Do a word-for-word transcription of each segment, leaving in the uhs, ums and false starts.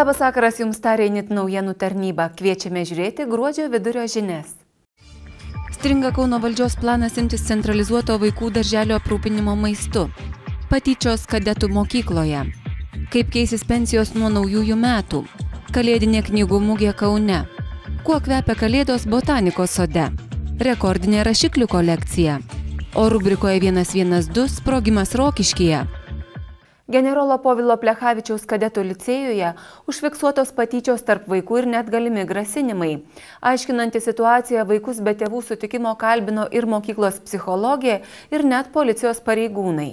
Labas vakaras jums tarė Init naujienų tarnyba. Kviečiame žiūrėti gruodžio vidurio žinias. Stringa Kauno valdžios planas imtis centralizuoto vaikų darželio aprūpinimo maistu. Patyčios kadetų mokykloje. Kaip keisis pensijos nuo naujųjų metų. Kalėdinė knygų mugė Kaune. Kuo kvepia kalėdos botanikos sode. Rekordinė rašiklių kolekcija. O rubrikoje vienas vienas du sprogimas Rokiškyje. Generolo Povilo Plechavičiaus kadetų licėjuje užfiksuotos patyčios tarp vaikų ir net galimi grasinimai. Aiškinanti situaciją, vaikus be tėvų sutikimo kalbino ir mokyklos psichologė, ir net policijos pareigūnai.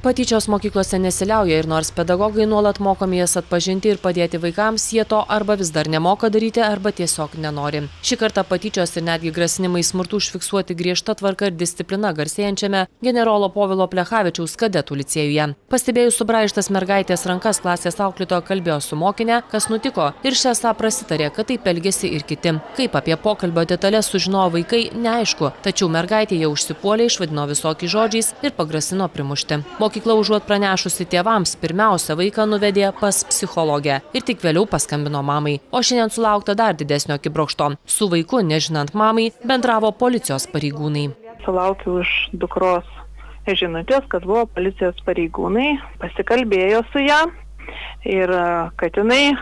Patyčios mokyklose nesiliauja ir nors pedagogai nuolat mokomi jas atpažinti ir padėti vaikams, jie to arba vis dar nemoka daryti, arba tiesiog nenori. Šį kartą patyčios ir netgi grasinimai smurtų užfiksuoti griežta tvarka ir disciplina garsėjančiame generolo Povilo Plechavičiaus kadetų licėjuje. Pastebėjus subraižtas mergaitės rankas, klasės auklėtoja kalbėjo su mokinė, kas nutiko, ir šią esą prasitarė, kad taip elgėsi ir kiti. Kaip apie pokalbio detalės sužinojo vaikai, neaišku, tačiau mergaitė jau užsipuolė, išvadino visokiais žodžiais ir pagrasino primušti. Mokykla užuot pranešusi tėvams, pirmiausia vaiką nuvedė pas psichologę ir tik vėliau paskambino mamai. O šiandien sulaukta dar didesnio akibrokšto. Su vaiku, nežinant mamai, bendravo policijos pareigūnai. Sulaukiu iš dukros žinutės, kad buvo policijos pareigūnai, pasikalbėjo su ją ir kad jinai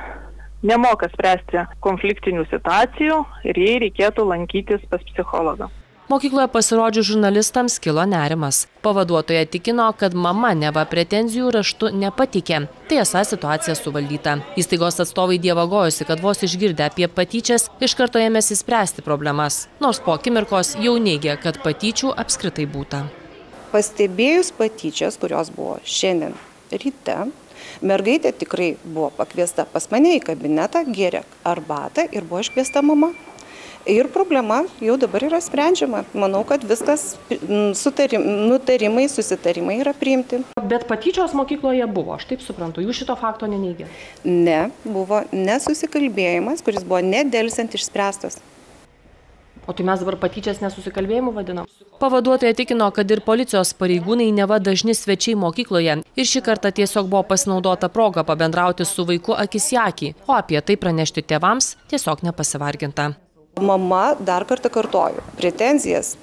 nemoka spręsti konfliktinių situacijų ir jai reikėtų lankytis pas psichologą. Mokykloje pasirodžius žurnalistams kilo nerimas. Pavaduotoja tikino, kad mama neva pretenzijų raštu nepatikė. Tai esą situacija suvaldyta. Įstaigos atstovai dievagojosi, kad vos išgirdę apie patyčias, iš karto ėmėsi spręsti problemas. Nors po akimirkos jau neigė, kad patyčių apskritai būta. Pastebėjus patyčias, kurios buvo šiandien ryte, mergaitė tikrai buvo pakviesta pas mane į kabinetą, gėrė arbatą ir buvo iškviesta mama. Ir problema jau dabar yra sprendžiama. Manau, kad viskas sutarim, nutarimai, susitarimai yra priimti. Bet patyčios mokykloje buvo, aš taip suprantu, jūs šito fakto neneigė? Ne, buvo nesusikalbėjimas, kuris buvo nedelsiant išspręstas. O tai mes dabar patyčias nesusikalbėjimu vadinam? Pavaduotoja tikino, kad ir policijos pareigūnai neva dažni svečiai mokykloje ir šį kartą tiesiog buvo pasinaudota proga pabendrauti su vaiku akis į akį, o apie tai pranešti tėvams tiesiog nepasivarginta. Mama, dar kartą kartoju, pretenzijas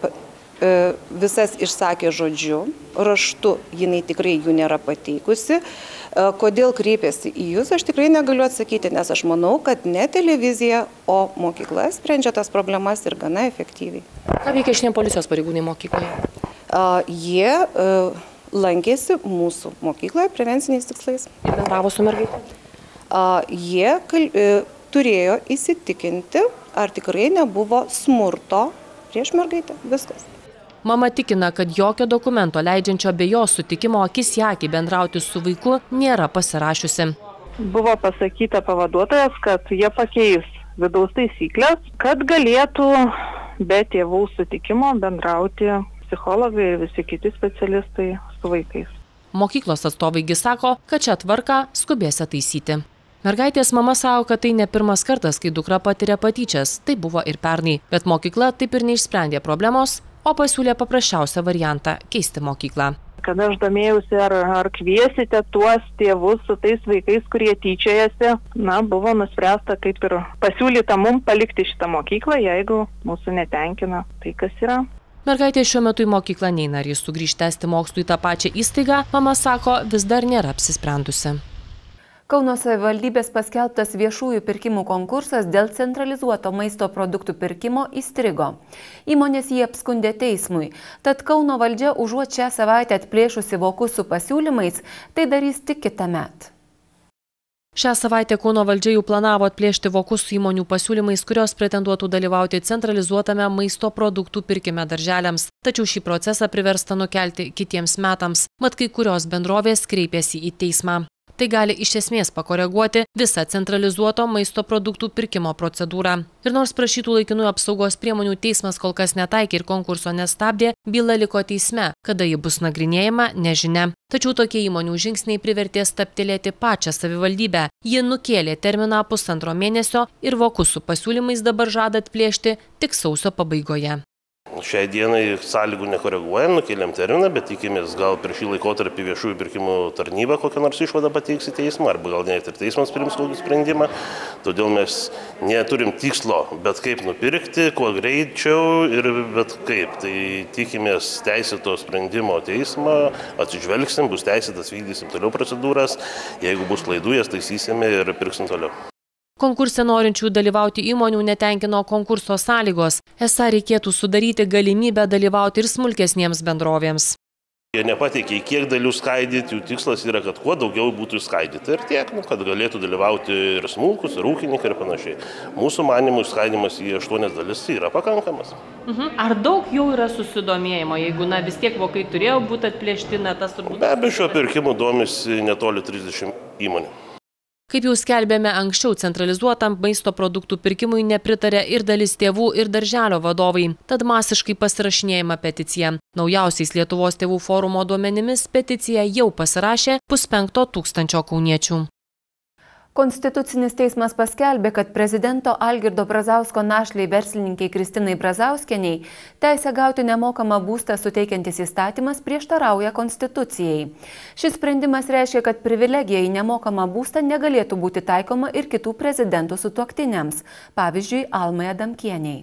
visas išsakė žodžiu, raštu jinai tikrai jų nėra pateikusi. Kodėl kreipėsi į jūs, aš tikrai negaliu atsakyti, nes aš manau, kad ne televizija, o mokykla sprendžia tas problemas ir gana efektyviai. Ką veikia šiandien policijos pareigūnai mokykloje? Jie lankėsi mūsų mokykloje prevenciniais tikslais. Ir bendravo su mergaitė? Jie kalbėjo. Turėjo įsitikinti, ar tikrai nebuvo smurto prieš mergaitę. Viskas. Mama tikina, kad jokio dokumento leidžiančio be jo sutikimo akis į akį bendrauti su vaiku nėra pasirašiusi. Buvo pasakyta pavaduotojas, kad jie pakeis vidaus taisyklės, kad galėtų be tėvų sutikimo bendrauti psichologai ir visi kiti specialistai su vaikais. Mokyklos atstovaigi sako, kad šią tvarką skubės taisyti. Mergaitės mama sako, kad tai ne pirmas kartas, kai dukra patiria patyčias. Tai buvo ir pernai, bet mokykla taip ir neišsprendė problemos, o pasiūlė paprasčiausią variantą – keisti mokyklą. Kada aš domėjausi, ar, ar kviesite tuos tėvus su tais vaikais, kurie tyčiojasi, na, buvo nuspręsta kaip ir pasiūlyta mums palikti šitą mokyklą, jeigu mūsų netenkina tai, kas yra. Mergaitė šiuo metu į mokyklą neina, ar jis sugrįš tęsti mokslų į tą pačią įstaigą, mama sako, vis dar nėra apsisprendusi. Kauno savivaldybės paskelbtas viešųjų pirkimų konkursas dėl centralizuoto maisto produktų pirkimo įstrigo. Įmonės jį apskundė teismui, tad Kauno valdžia užuot šią savaitę atplėšusi vokus su pasiūlymais, tai darys tik kitąmet. Šią savaitę Kauno valdžia jau planavo atplėšti vokus su įmonių pasiūlymais, kurios pretenduotų dalyvauti centralizuotame maisto produktų pirkime darželiams. Tačiau šį procesą priversta nukelti kitiems metams, mat kai kurios bendrovės kreipėsi į teismą. Tai gali iš esmės pakoreguoti visą centralizuoto maisto produktų pirkimo procedūrą. Ir nors prašytų laikinųjų apsaugos priemonių teismas kol kas netaikė ir konkurso nestabdė, byla liko teisme, kada ji bus nagrinėjama, nežinia. Tačiau tokie įmonių žingsniai privertė stabtelėti pačią savivaldybę. Ji nukėlė terminą pusantro mėnesio ir vokus su pasiūlymais dabar žada atplėšti tik sausio pabaigoje. Šiai dienai sąlygų nekoreguojam, nukeliam terminą, bet tikimės gal per šį laikotarpį viešųjų pirkimų tarnyba kokią nors išvadą pateiks į teismą, arba gal net ir teismas priims kokį sprendimą. Todėl mes neturim tikslo, bet kaip nupirkti, kuo greičiau ir bet kaip. Tai tikimės teisėto sprendimo teismą, atsižvelgsim, bus teisėtas, vykdysim toliau procedūras, jeigu bus klaidų, jas taisysime ir pirksim toliau. Konkurse norinčių dalyvauti įmonių netenkino konkurso sąlygos. Esą reikėtų sudaryti galimybę dalyvauti ir smulkesniems bendrovėms. Jie nepateikė, kiek dalių skaidyti, jų tikslas yra, kad kuo daugiau būtų išskaidyti ir tiek, nu, kad galėtų dalyvauti ir smulkus, ir ūkininkai ir panašiai. Mūsų manimų išskaidimas į aštuonias dalis yra pakankamas. Mhm. Ar daug jau yra susidomėjimo, jeigu na, vis tiek vokai turėjo būti atplėšti, na tas turbūt... Be abejo, šio pirkimo domisi netoli trisdešimt įmonių. Kaip jau skelbėme anksčiau, centralizuotam maisto produktų pirkimui nepritarė ir dalis tėvų, ir darželio vadovai, tad masiškai pasirašinėjama peticija. Naujausiais Lietuvos tėvų forumo duomenimis peticiją jau pasirašė puspenkto tūkstančio kauniečių. Konstitucinis teismas paskelbė, kad prezidento Algirdo Brazausko našlei verslininkai Kristinai Brazauskienei teisę gauti nemokamą būstą suteikiantis įstatymas prieštarauja Konstitucijai. Šis sprendimas reiškia, kad privilegija į nemokamą būstą negalėtų būti taikoma ir kitų prezidentų sutuoktiniams, pavyzdžiui, Almai Adamkienei.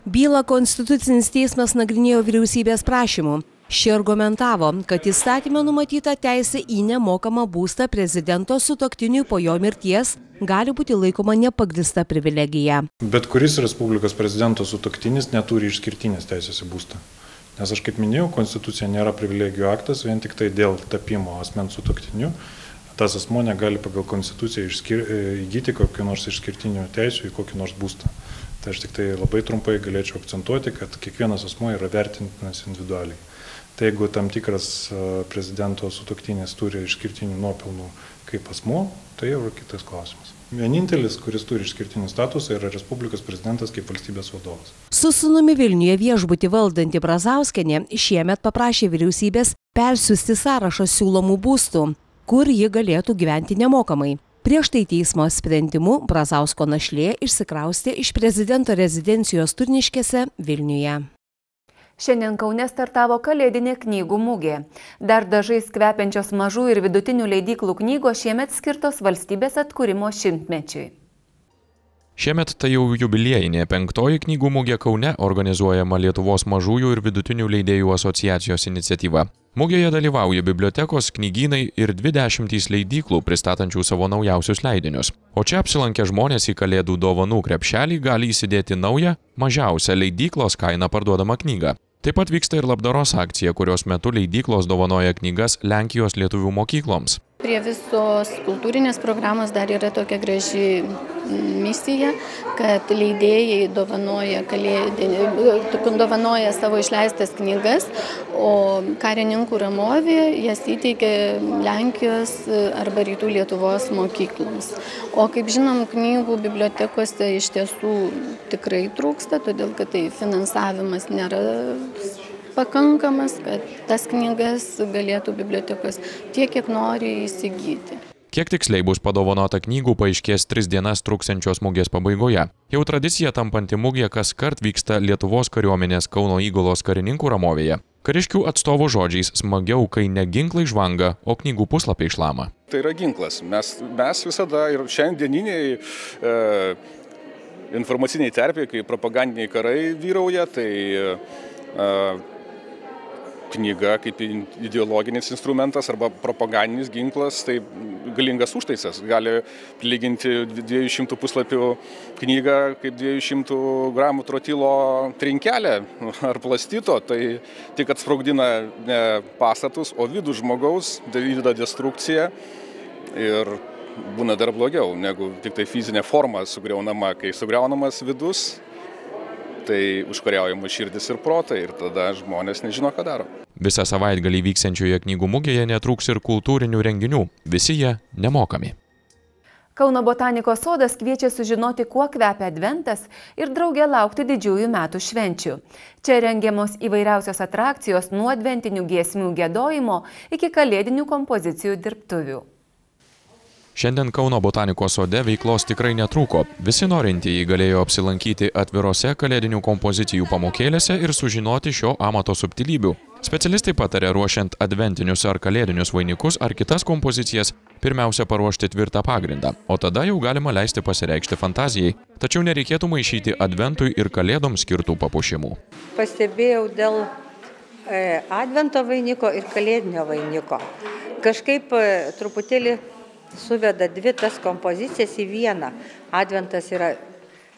Bylą Konstitucinis teismas nagrinėjo vyriausybės prašymu. Ši argumentavo, kad įstatyme numatyta teisė į nemokamą būstą prezidento sutuoktiniui po jo mirties gali būti laikoma nepagrįsta privilegija. Bet kuris Respublikos prezidento sutuoktinis neturi išskirtinės teisės į būstą. Nes aš kaip minėjau, Konstitucija nėra privilegijų aktas, vien tik tai dėl tapimo asmens sutuoktiniu. Tas asmuo negali pagal Konstituciją išskir... įgyti kokių nors išskirtinių teisių į kokį nors būstą. Tai aš tik tai labai trumpai galėčiau akcentuoti, kad kiekvienas asmuo yra vertintinas individualiai. Tai jeigu tam tikras prezidento sutuoktinis turi išskirtinių nuopelnų kaip asmuo, tai jau yra kitas klausimas. Vienintelis, kuris turi išskirtinį statusą, yra Respublikos prezidentas kaip valstybės vadovas. Su sūnumi Vilniuje viešbutį valdanti Brazauskienė šiemet paprašė vyriausybės persiųsti sąrašą siūlomų būstų, kur ji galėtų gyventi nemokamai. Prieš tai teismo sprendimu Brazausko našlė išsikraustė iš prezidento rezidencijos Turniškėse Vilniuje. Šiandien Kaune startavo kalėdinė knygų mugė. Dar dažais kvepiančios mažų ir vidutinių leidyklų knygos šiemet skirtos valstybės atkūrimo šimtmečiui. Šiemet tai jau jubiliejinė penktoji knygų mugė Kaune, organizuojama Lietuvos mažųjų ir vidutinių leidėjų asociacijos iniciatyva. Mugėje dalyvauja bibliotekos, knygynai ir dvi dešimtys leidyklų pristatančių savo naujausius leidinius. O čia apsilankę žmonės į kalėdų dovanų krepšelį gali įsidėti naują, mažiausią leidyklos kainą parduodamą knygą. Taip pat vyksta ir labdaros akcija, kurios metu leidyklos dovanoja knygas Lenkijos lietuvių mokykloms. Prie visos kultūrinės programos dar yra tokia graži misija, kad leidėjai dovanoja, kalėdinį, dovanoja savo išleistas knygas, o karininkų ramovė jas įteikia Lenkijos arba Rytų Lietuvos mokykloms. O kaip žinom, knygų bibliotekose iš tiesų tikrai trūksta, todėl kad tai finansavimas nėra pakankamas, kad tas knygas galėtų bibliotekos tiek, kiek nori įsigyti. Kiek tiksliai bus padovanota knygų, paaiškės tris dienas truksiančios mugės pabaigoje. Jau tradicija tampanti mugė kaskart vyksta Lietuvos kariuomenės Kauno Įgulos karininkų ramovėje. Kariškių atstovų žodžiais smagiau, kai ne ginklai žvanga, o knygų puslapiai šlama. Tai yra ginklas. Mes, mes visada ir šiandieniniai e, informaciniai terpiai, kai propagandiniai karai vyrauja, tai e, knyga kaip ideologinis instrumentas arba propagandinis ginklas, tai galingas užtaisas. Gali lyginti dviejų šimtų puslapių knygą kaip dviejų šimtų gramų trotilo trinkelę ar plastito, tai tik atsprogdina ne pastatus, o vidų žmogaus, vykdo destrukciją ir būna dar blogiau, negu tik tai fizinė forma sugriaunama. Kai sugriaunamas vidus, tai užkariaujama širdis ir protai ir tada žmonės nežino, ką daro. Visą savaitgalį vyksiančioje knygų mugėje netrūks ir kultūrinių renginių. Visi jie nemokami. Kauno botanikos sodas kviečia sužinoti, kuo kvepia adventas ir drauge laukti didžiųjų metų švenčių. Čia rengiamos įvairiausios atrakcijos nuo adventinių giesmių giedojimo iki kalėdinių kompozicijų dirbtuvių. Šiandien Kauno botanikos sode veiklos tikrai netrūko. Visi norintieji galėjo apsilankyti atvirose kalėdinių kompozicijų pamokėlėse ir sužinoti šio amato subtilybių. Specialistai patarė ruošiant adventinius ar kalėdinius vainikus ar kitas kompozicijas pirmiausia paruošti tvirtą pagrindą, o tada jau galima leisti pasireikšti fantazijai. Tačiau nereikėtų maišyti adventui ir kalėdoms skirtų papuošimų. Pastebėjau dėl e, advento vainiko ir kalėdinio vainiko. Kažkaip e, truputėlį suveda dvi tas kompozicijas į vieną. Adventas yra,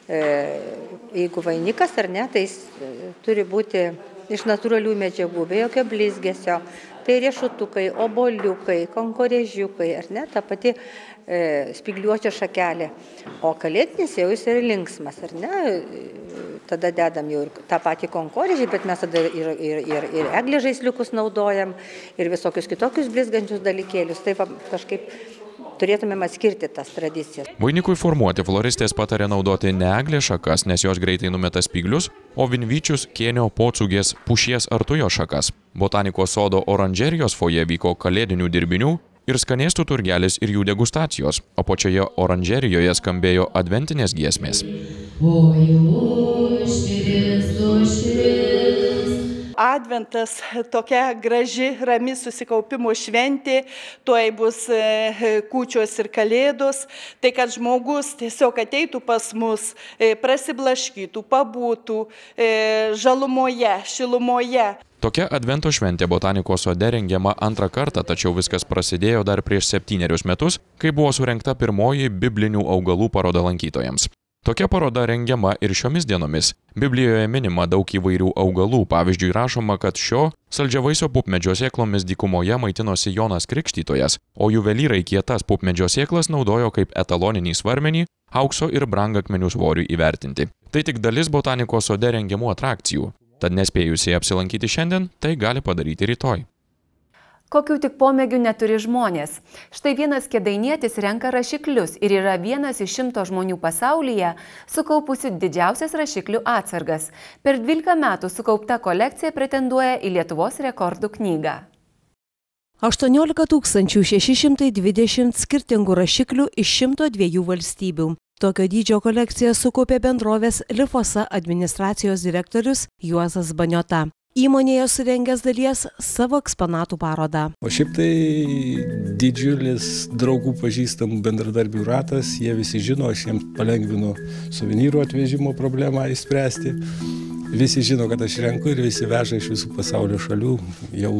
e, jeigu vainikas ar ne, tai jis e, turi būti iš natūralių medžiagų, be jokio blizgesio. Tai riešutukai, oboliukai, konkorėžiukai, ar ne, ta pati e, spygliuočio šakelė. O kalėdinis jau jis yra linksmas, ar ne? Tada dedam jau ir tą patį konkorėžį, bet mes tada ir, ir, ir, ir eglės žaisliukus naudojam, ir visokius kitokius blizgančius dalykėlius. Taip kažkaip turėtumėm atskirti tas tradicijas. Vainikui formuoti floristės patarė naudoti ne eglės šakas, nes jos greitai numeta spyglius, o vinvyčius, kėnio, pocūgės, pušies ar tujo šakas. Botanikos sodo oranžerijos foje vyko kalėdinių dirbinių ir skanėstų turgelis ir jų degustacijos, o pačioje oranžerijoje skambėjo adventinės giesmės. Adventas tokia graži, rami susikaupimo šventė, tuoj bus kūčios ir kalėdos, tai kad žmogus tiesiog ateitų pas mus, prasiblaškytų, pabūtų žalumoje, šilumoje. Tokia advento šventė botanikos sode rengiama antrą kartą, tačiau viskas prasidėjo dar prieš septynerius metus, kai buvo surengta pirmoji biblinių augalų paroda lankytojams. Tokia paroda rengiama ir šiomis dienomis. Biblijoje minima daug įvairių augalų, pavyzdžiui rašoma, kad šio saldžiavaisio pupmedžio sėklomis dykumoje maitinosi Jonas Krikštytojas, o juvelyrai kietas pupmedžio sėklas naudojo kaip etaloninį svarmenį, aukso ir brangakmenių svoriui įvertinti. Tai tik dalis botanikos sode rengiamų atrakcijų. Tad nespėjusiai apsilankyti šiandien, tai gali padaryti rytoj. Kokių tik pomėgių neturi žmonės. Štai vienas kėdainietis renka rašiklius ir yra vienas iš šimto žmonių pasaulyje sukaupusių didžiausias rašiklių atsargas. Per dvylika metų sukaupta kolekcija pretenduoja į Lietuvos rekordų knygą. aštuoniolika tūkstančių šeši šimtai dvidešimt skirtingų rašiklių iš šimto dviejų valstybių. Tokio dydžio kolekciją sukaupė bendrovės Lifosa administracijos direktorius Juozas Baniota. Įmonėje surengęs dalies savo eksponatų parodą. O šiaip tai didžiulis draugų pažįstamų bendradarbių ratas, jie visi žino, aš jiems palengvinu suvenyrų atvežimo problemą įspręsti. Visi žino, kad aš renku ir visi veža iš visų pasaulio šalių, jau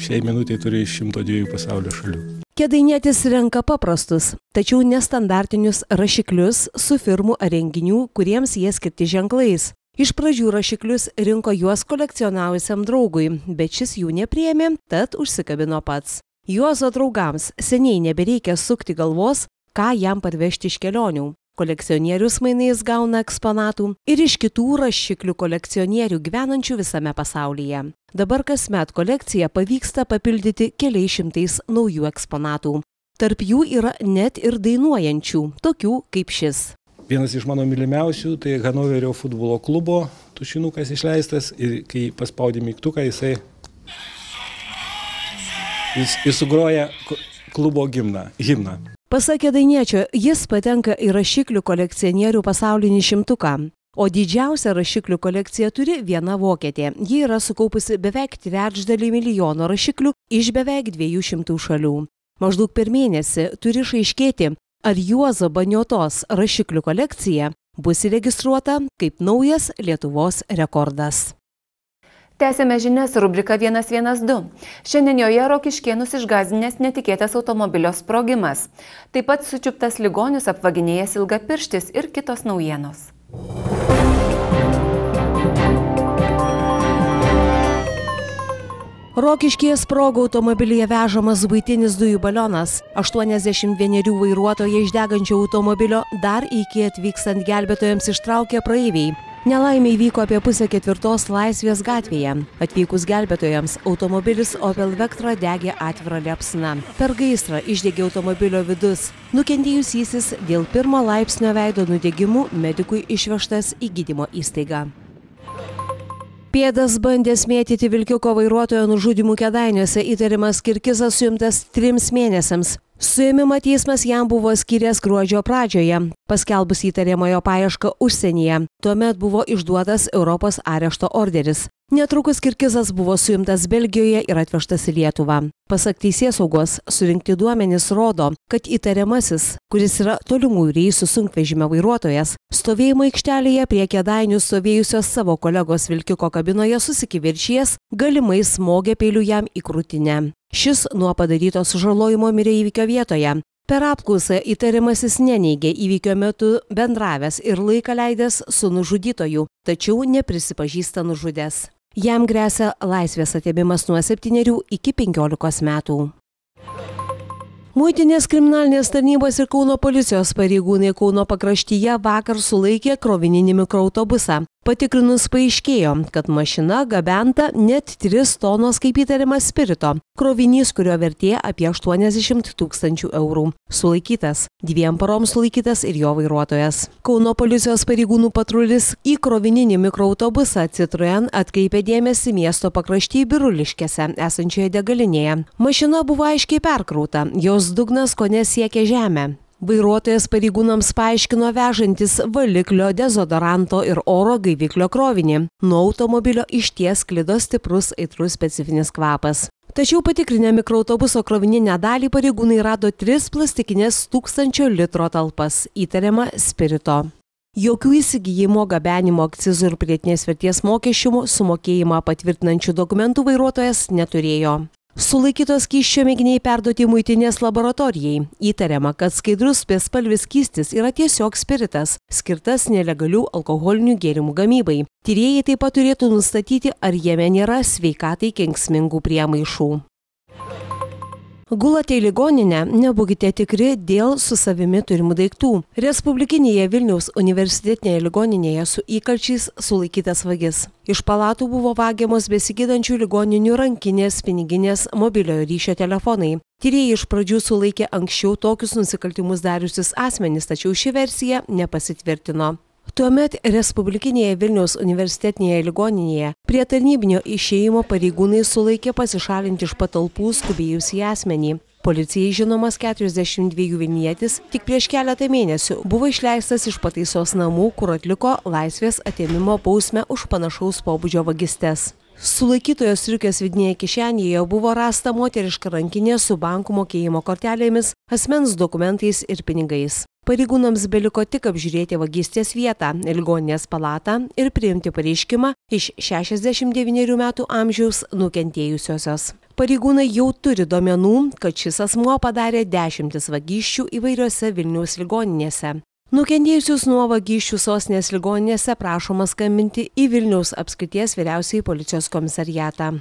šiai minutėje turiu iš šimto dviejų pasaulio šalių. Kėdainietis renka paprastus, tačiau nestandartinius rašiklius su firmų ar renginių, kuriems jie skirti ženklais. Iš pradžių rašiklius rinko juos kolekcionavusiam draugui, bet šis jų nepriėmė, tad užsikabino pats. Juozo draugams seniai nebereikia sukti galvos, ką jam parvežti iš kelionių. Kolekcionierius mainais gauna eksponatų ir iš kitų rašiklių kolekcionierių gyvenančių visame pasaulyje. Dabar kasmet kolekciją pavyksta papildyti keliais šimtais naujų eksponatų. Tarp jų yra net ir dainuojančių, tokių kaip šis. Vienas iš mano mylimiausių, tai Hanoverio futbolo klubo tušinukas išleistas ir kai paspaudė mygtuką, jisai jis, jis sugroja klubo gimną, himną. Pasak kėdainiečio, jis patenka į rašiklių kolekcionierių pasaulinį šimtuką. O didžiausią rašiklių kolekciją turi viena vokietė. Ji yra sukaupusi beveik trečdalį milijono rašiklių iš beveik dviejų šimtų šalių. Maždaug per mėnesį turi išaiškėti, ar Juozo Baniotos rašiklių kolekcija bus įregistruota kaip naujas Lietuvos rekordas. Tęsėme žinias rubrika vienas vienas du. Šiandien joje Rokiškėnus išgąsdinęs netikėtas automobilio sprogimas. Taip pat sučiuptas ligonius apvaginėjęs ilgapirštis ir kitos naujienos. Rokiškyje sprogo automobilyje vežamas buitinis dujų balionas. aštuoniasdešimt vienerių vairuotoją iš degančio automobilio dar iki atvykstant gelbėtojams ištraukė praeiviai. Nelaimė įvyko apie pusę ketvirtos Laisvės gatvėje. Atvykus gelbėtojams, automobilis Opel Vectra degė atvira liepsna. Per gaisrą išdegė automobilio vidus. Nukentėjusysis dėl pirmo laipsnio veido nudegimų medikui išvežtas į gydymo įstaigą. Pėdas bandė smėtyti vilkiuko vairuotojo nužudymų Kėdainiuose, įtariamas Kirkizas suimtas trims mėnesiams. Suėmimą teismas jam buvo skyręs gruodžio pradžioje, paskelbus įtariamojo paiešką užsienyje. Tuomet buvo išduotas Europos arešto orderis. Netrukus Kirkizas buvo suimtas Belgijoje ir atvežtas į Lietuvą. Pasak teisėsaugos, surinkti duomenys rodo, kad įtariamasis, kuris yra tolimų reisų sunkvežimio vairuotojas, stovėjimo aikštelėje prie Kėdainių stovėjusios savo kolegos vilkiko kabinoje susikivirčijęs, galimai smogė peiliu jam į krūtinę. Šis nuo padaryto sužalojimo mirė įvykio vietoje. Per apklausą įtariamasis neneigė įvykio metu bendravęs ir laiką leidęs su nužudytoju, tačiau neprisipažįsta nužudęs. Jam gresia laisvės atėmimas nuo septynerių iki penkiolikos metų. Muitinės kriminalinės tarnybos ir Kauno policijos pareigūnai Kauno pakraštyje vakar sulaikė krovininį mikroautobusą. Patikrinus paaiškėjo, kad mašina gabenta net tris tonos kaip įtariama spirito. Krovinys, kurio vertė apie aštuoniasdešimt tūkstančių eurų. Sulaikytas. Dviem paroms sulaikytas ir jo vairuotojas. Kauno policijos pareigūnų patrulis į krovininį mikroautobusą Citroen atkreipė dėmesį miesto pakrašty Biruliškėse esančioje degalinėje. Mašina buvo aiškiai perkrauta, jos dugnas kone siekė žemę. Vairuotojas pareigūnams paaiškino vežantis valiklio, dezodoranto ir oro gaiviklio krovinį. Nuo automobilio išties sklido stiprus aitrus specifinis kvapas. Tačiau patikrinę mikroautobuso krovininę dalį pareigūnai rado tris plastikinės tūkstančio litro talpas, įtariama spirito. Jokių įsigijimo, gabenimo, akcizų ir pridėtinės vertės mokesčių sumokėjimą patvirtinančių dokumentų vairuotojas neturėjo. Sulaikytos skysčio mėginiai perduoti muitinės laboratorijai. Įtariama, kad skaidrus bespalvis skystis yra tiesiog spiritas, skirtas nelegalių alkoholinių gėrimų gamybai. Tyrėjai taip pat turėtų nustatyti, ar jame nėra sveikatai kenksmingų priemaišų. Gulate į ligoninę, nebūkite tikri dėl su savimi turimų daiktų. Respublikinėje Vilniaus universitetinėje ligoninėje su įkalčiais sulaikytas vagis. Iš palatų buvo vagiamos besigydančių ligoninių rankinės, piniginės, mobiliojo ryšio telefonai. Tyrėjai iš pradžių sulaikė anksčiau tokius nusikaltimus dariusius asmenys, tačiau ši versija nepasitvirtino. Tuomet Respublikinėje Vilniaus universitetinėje ligoninėje prie tarnybinio išėjimo pareigūnai sulaikė pasišalinti iš patalpų skubėjusį asmenį. Policijai žinomas keturiasdešimt dviejų vilnietis tik prieš keletą mėnesių buvo išleistas iš pataisos namų, kur atliko laisvės atėmimo bausmę už panašaus pobūdžio vagystes. Sulaikytojo striukės vidinėje kišenėje buvo rasta moteriška rankinė su bankų mokėjimo kortelėmis, asmens dokumentais ir pinigais. Pareigūnams beliko tik apžiūrėti vagystės vietą, ligoninės palatą ir priimti pareiškimą iš šešiasdešimt devynerių metų amžiaus nukentėjusiosios. Pareigūnai jau turi duomenų, kad šis asmuo padarė dešimtis vagysčių įvairiose Vilniaus ligoninėse. Nukentėjusius nuo vagysčių sostinės ligoninėse prašoma skambinti į Vilniaus apskrities vyriausiąjį policijos komisariatą.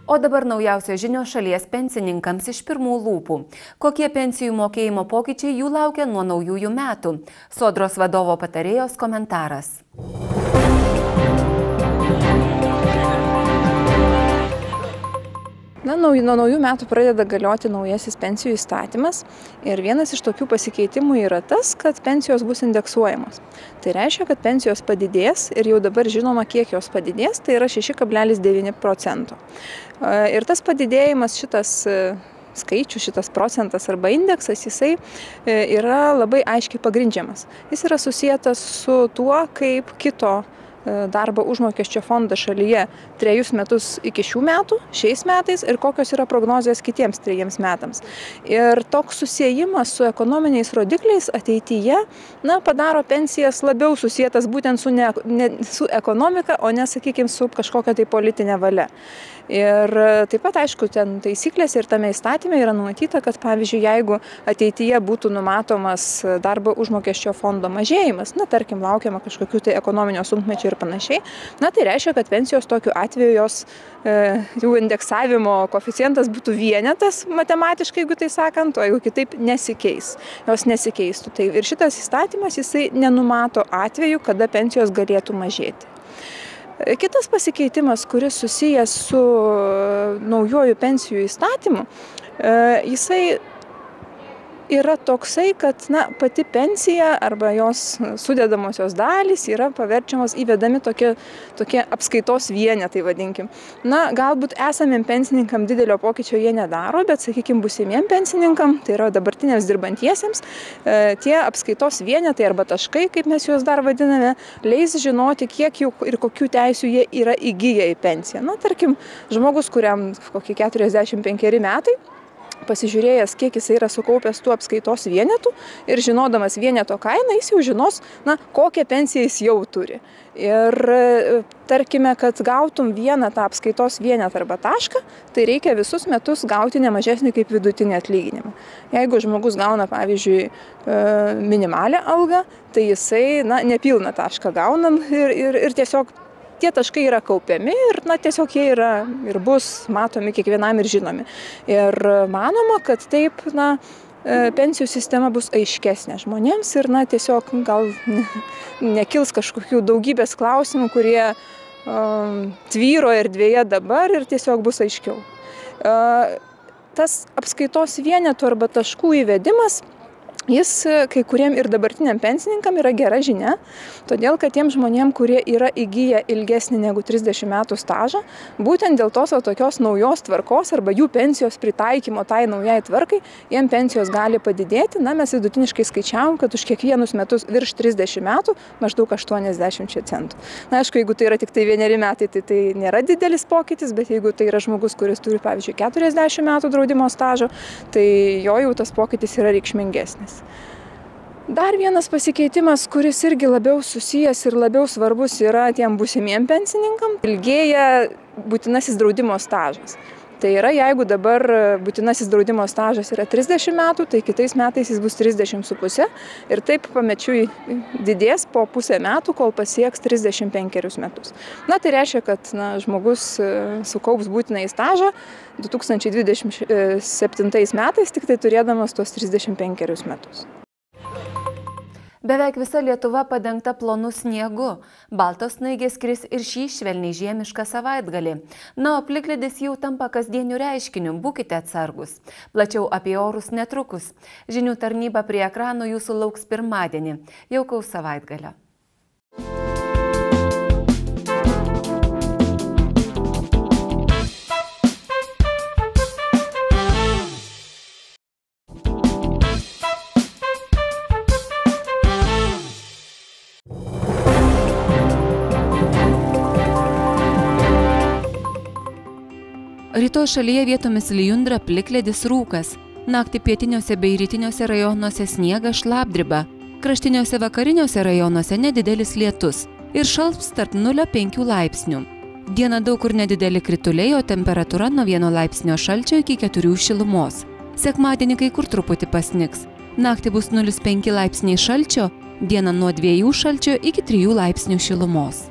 O dabar naujausios žinios šalies pensininkams iš pirmų lūpų. Kokie pensijų mokėjimo pokyčiai jų laukia nuo naujųjų metų? Sodros vadovo patarėjos komentaras. Na, nuo naujų metų pradeda galioti naujasis pensijų įstatymas ir vienas iš tokių pasikeitimų yra tas, kad pensijos bus indeksuojamos. Tai reiškia, kad pensijos padidės ir jau dabar žinoma, kiek jos padidės, tai yra šeši kablelis devyni procento. Ir tas padidėjimas, šitas skaičius, šitas procentas arba indeksas, jisai yra labai aiškiai pagrindžiamas. Jis yra susijęs su tuo, kaip kito darbo užmokesčio fondą šalyje trejus metus iki šių metų, šiais metais ir kokios yra prognozijos kitiems trejiems metams. Ir toks susiejimas su ekonominiais rodikliais ateityje, na, padaro pensijas labiau susietas būtent su, ne, ne, su ekonomika, o ne, sakykime, su kažkokia tai politinė valia. Ir taip pat, aišku, ten taisyklės ir tame įstatyme yra numatyta, kad, pavyzdžiui, jeigu ateityje būtų numatomas darbo užmokesčio fondo mažėjimas, na, tarkim, laukiama kažkokių tai ekonominio sunkmečio ir panašiai, na, tai reiškia, kad pensijos tokiu atveju jos e, jų indeksavimo koeficientas būtų vienetas matematiškai, jeigu tai sakant, o jeigu kitaip nesikeis, jos nesikeistų. Tai ir šitas įstatymas, jisai nenumato atveju, kada pensijos galėtų mažėti. Kitas pasikeitimas, kuris susijęs su naujoju pensijų įstatymu, jisai yra toksai, kad na, pati pensija arba jos sudedamosios dalys yra paverčiamos įvedami tokie, tokie apskaitos vienetai, vadinkim. Na, galbūt esamiem pensininkam didelio pokyčio jie nedaro, bet, sakykime, būsimiem pensininkam, tai yra dabartiniams dirbantiesiems, e, tie apskaitos vienetai arba taškai, kaip mes juos dar vadiname, leis žinoti, kiek jų ir kokių teisių jie yra įgyję į pensiją. Na, tarkim, žmogus, kuriam kokie keturiasdešimt penkeri metai, pasižiūrėjęs, kiek jis yra sukaupęs tų apskaitos vienetų ir žinodamas vieneto kainą, jis jau žinos, na, kokią pensiją jis jau turi. Ir tarkime, kad gautum vieną tą apskaitos vienetą arba tašką, tai reikia visus metus gauti ne mažesnį kaip vidutinį atlyginimą. Jeigu žmogus gauna, pavyzdžiui, minimalią algą, tai jisai, na, nepilną tašką gauna ir, ir, ir tiesiog tie taškai yra kaupiami ir na, tiesiog jie yra ir bus matomi kiekvienam ir žinomi. Ir manoma, kad taip na, pensijų sistema bus aiškesnė žmonėms ir na, tiesiog gal nekils kažkokių daugybės klausimų, kurie um, tvyro erdvėje dabar ir tiesiog bus aiškiau. Uh, tas apskaitos vienetų arba taškų įvedimas, jis kai kuriem ir dabartiniam pensininkam yra gera žinia, todėl kad tiem žmonėm, kurie yra įgyję ilgesnį negu trisdešimt metų stažą, būtent dėl tos o tokios naujos tvarkos arba jų pensijos pritaikymo tai naujai tvarkai, jiem pensijos gali padidėti. Na, mes vidutiniškai skaičiavom, kad už kiekvienus metus virš trisdešimt metų maždaug aštuoniasdešimt centų. Na, aišku, jeigu tai yra tik tai vieneri metai, tai tai nėra didelis pokytis, bet jeigu tai yra žmogus, kuris turi, pavyzdžiui, keturiasdešimt metų draudimo stažo, tai jo jau tas pokytis yra reikšmingesnis. Dar vienas pasikeitimas, kuris irgi labiau susijęs ir labiau svarbus yra tiem būsimiem pensininkam, ilgėja būtinasis draudimo stažas. Tai yra, jeigu dabar būtinasis draudimo stažas yra trisdešimt metų, tai kitais metais jis bus trisdešimt su puse ir taip pamečiui didės po pusę metų, kol pasieks trisdešimt penkerius metus. Na, tai reiškia, kad na, žmogus sukaups būtinąjį stažą du tūkstančiai dvidešimt septintais metais, tik tai turėdamas tuos trisdešimt penkerius metus. Beveik visa Lietuva padengta plonu sniegu. Baltos snaigės kris ir šį švelniai žiemišką savaitgalį. Na, o plikledis jau tampa kasdieniu reiškiniu, būkite atsargus. Plačiau apie orus netrukus. Žinių tarnyba prie ekrano jūsų lauks pirmadienį. Jaukaus savaitgalio. Rytoj šalyje vietomis lijundra, plikledis, rūkas. Naktį pietiniuose bei rytiniuose rajonuose sniegas, šlapdriba. Kraštiniuose vakariniuose rajonuose nedidelis lietus. Ir šalps tarp nulio penkių laipsnių. Dieną daug kur nedideli krituliai, o temperatūra nuo vieno laipsnio šalčio iki keturių šilumos. Sekmadienį kai kur truputį pasnigs. Naktį bus nulis penki laipsniai šalčio, dieną nuo dviejų šalčio iki trijų laipsnių šilumos.